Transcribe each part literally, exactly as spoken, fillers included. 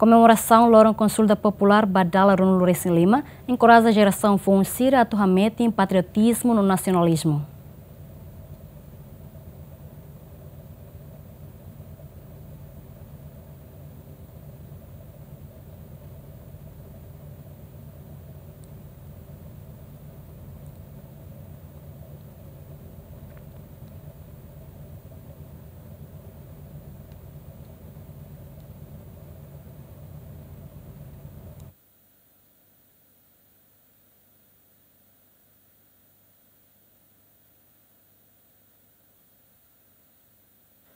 Komemorasaun Loron Konsulta Populár ba dala ruanulu-resin-lima enkoraja jerasaun foun sira atu hametin patriotizmu no nasionalizmu.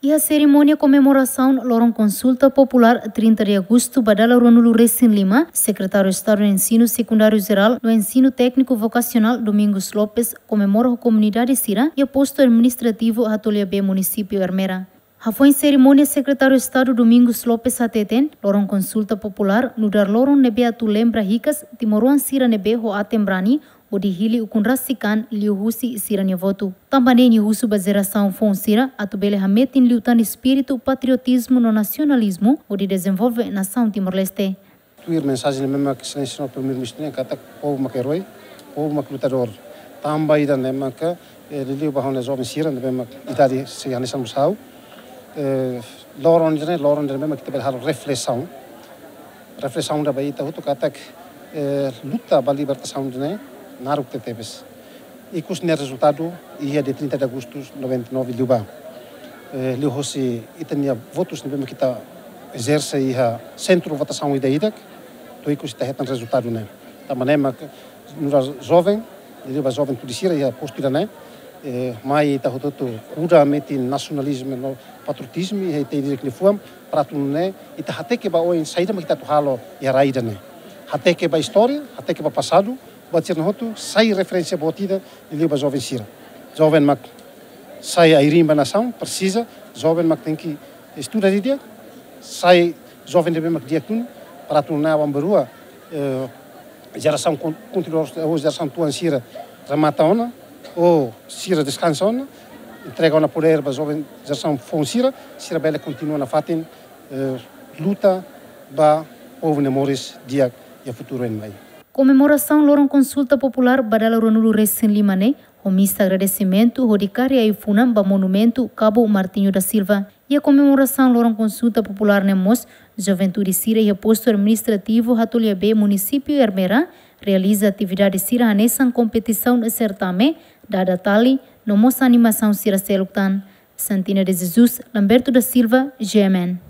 Iha serimónia komemorasaun Loron Konsulta Populár trinta de Agostu ba dala ruanulu-resin-lima, Sekretáriu Estadu Ensinu Sekundáriu Jerál no Ensinu Tékniku Vokasionál, Domingos Lopes, komemora ho komunidade sira iha postu administrativu Hatolha B, munisípiu Ermera. Hafoin serimónia, Sekretáriu Estadu Domingos Lopes hateten, Loron Konsulta Populár nu'udar loron ne'ebé atu lembra hikas timoroan sira ne'ebé ho aten-brani hodi hili ukun rasik an liuhusi sira-nia votu. Tanba ne'e nia husu ba jerasaun foun sira atu bele hametin liután espíritu patriotizmu no nasionalizmu hodi dezenvolve nasaun Timor-Leste. Tuir mensajen ne'ebé mak Exelénsia Señór Primeiru-Ministru nian katak povu mak eroi, povu mak lutadór. Tanba ida-ne'e maka, eh, liuliu ba ha'u-nia joven sira ne'ebé mak idade sei hanesan mós ha'u. Eh, loron ida-ne'e, loron ida-ne'e mak ita bele halo reflesaun. Reflesaun ida ba ita hotu katak, eh, luta ba libertasaun ida-ne'e naruk tebetebes. Ikus nia rezultadu iha dia trinta de Agostu noventa e nove liubá. Eh, liuhosi ita-nia votus ne'ebé mak ita ezerse iha sentru votasaun ida-idak, to'o ikus ita hetan rezultadu ne'e. Tanba ne'e mak nu'udar joven, liuliu ba joven tuur sira iha postu ida-ne'e, eh, mai ita hotu-hotu kuda metin nasionalizmu no patriotizmu iha ita ida-idak nia fuan, para atu nune'e ita hateke ba oin saida mak ita atu halo iha rai ida-ne'e. Hateke ba istória, hateke ba pasadu, buat sira-ne'e hotu sai referénsia boot ida liuliu ba joven sira. Joven mak sai ai-riin ba nasaun, presiza joven mak tenke estuda didi'ak, sai joven ne'ebé mak di'ak duni, para atu nune'e aban-bainrua, eh, jerasaun kon-, kontinuadór, ou jerasaun tuan sira remata ona, ou sira deskansa ona, entrega ona podér ba joven jerasaun foun sira, sira bele kontinua nafatin, eh, luta ba povu nia moris di'ak iha futuru oin mai. Komemorasaun Loron Konsulta Populár ba dala ruanulu-resin-lima ne'e, ho misa agradesimentu hodi kaer ai-funan ba monumentu Cabo Martinho da Silva. Iha komemorasaun Loron Konsulta Populár ne'e mós, juventude sira iha postu administrativu Hatolha B, munisípiu Ermera, realiza atividade sira hanesan kompetisaun, certame, dada tali, no mós animasaun sira seluk tan. Santina de Jesus, Lamberto da Silva, G M N.